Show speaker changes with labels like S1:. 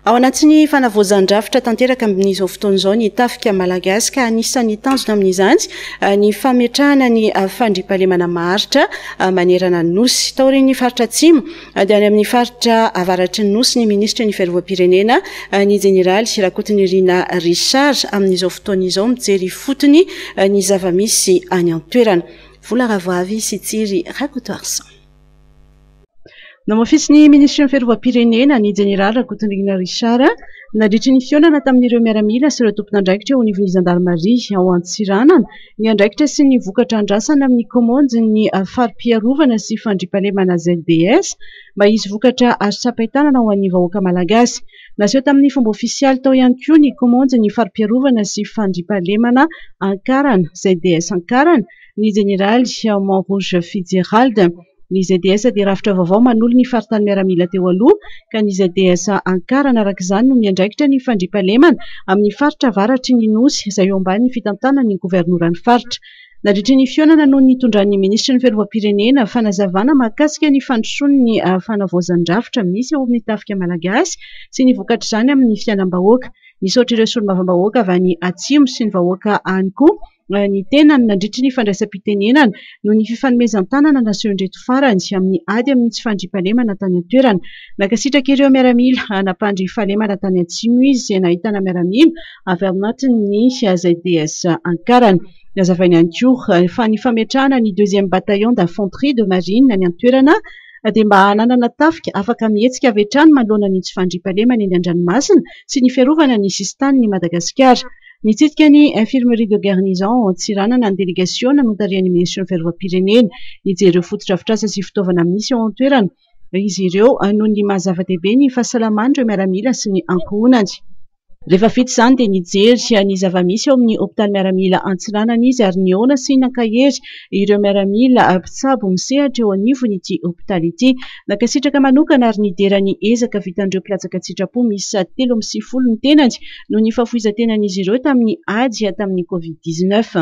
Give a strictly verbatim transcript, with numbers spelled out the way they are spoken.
S1: Ao anatin'ny fanavaozan-drafitra tanteraka amin'izao fotoana izao ny tafika malagasy, ka anisan'ny tanjona amin'izany ny fametrahana ny fandriampahalemana maharitra manerana ny nosy. Taorian'ny faritra atsimo dia any amin'ny faritra avaratry ny nosy ny minisitry ny fiarovam-pirenena, ny jeneraly Rakotonirina Richard, amin'izao fotoana izao mijery fotony ny zava-misy any an-toerana. Vola Ravoavy sy Tsiry Rakotoarison. Nohamafisin'ny minisitry ny fiarovam-pirenena, ny jeneraly Rakotonirina Richard, nandritry ny fihaonana tamin'ireo miaramila sy ireo tompon'andraikitra eo anivon'ny zandarimaria ao Antsiranana ny andraikitra sy ny vokatra andrasana amin'ny komandin'ny fari-piarovana sy fandriampahalemana Z D S mba hisy vokatra azo tsapain-tanana ho an'ny vahoaka malagasy. Naseho tamin'ny fomba ofisialy tao ihany koa ny komandin'ny fari-piarovana sy fandriampahalemana Ankarana, Z D S Ankarana, ny jeneraly Monrouge Fitzgerald. Ny Z D S dia rafitra vaovao manolo ny faritany miaramila teo aloha, ka ny Z D S Ankarana araka izany no miandraikitra ny fandriampahalemana amin'ny faritra avaratry ny nosy izay eo ambanin'ny fitantanan'ny governoran'ny faritra. Nandritry ny fihaonana no nitondran'ny minisitry ny fiarovam-pirenena fanazavana mahakasika ny fandrosoan'ny fanavaozan-drafitra misy eo amin'ny tafika malagasy sy ny vokatr'izany amin'ny fiainam-bahoaka. Nisaotra ireo solombavambahoaka avy any atsimo sy ny vahoaka any koa ny tenany nandritry ny fandraisam-pitenenana noho ny fifanomezan-tanana nasehon'ireto farany amin'ny ady amin'ny tsy fandriampahalemana tany an-toerana. Nankasitraka ireo miaramila nampandry fahalemana tany atsimo izy, izay nahitana miaramila avy ao anatin'ny Z D S Ankarana. Nazavainy ihany koa fa ny fametrahana ny deuxième bataillon d'infanterie de marine any an-toerana dia mba hananana tafika afaka mihetsika avy hatrany manoloana ny tsy fandriampahalemana eny an-dranomasina sy ny fiarovana ny sisin-tanin'i Madagasikara. Nitsidika ny infirmerie de garnison Antsiranana ny délégation notarihan'ny minisitry ny fiarovam-pirenena. Nijery ireo fotodrafitrasa sy fitaovana misy ao an-toerana izy ireo noho ny maha zava-dehibe ny fahasalaman'ireo miaramila sy ny ankohonany. Rehefa vita izany dia nijery ny zava-misy eo amin'ny hopitaly miaramila Antsiranana izy ary nihaona sy nankahery ireo miaramila mpitsabo misehatra eo anivon'ity hopitaly ity. Nankasitraka manokana ary nidera ny ezaka vitan'ireo mpilatsaka an-tsitrapo miisa telo amby sivifolo ny tenany noho ny fahafoizan-tenan'izy ireo tamin'ny ady tamin'ny Covid dix-neuf.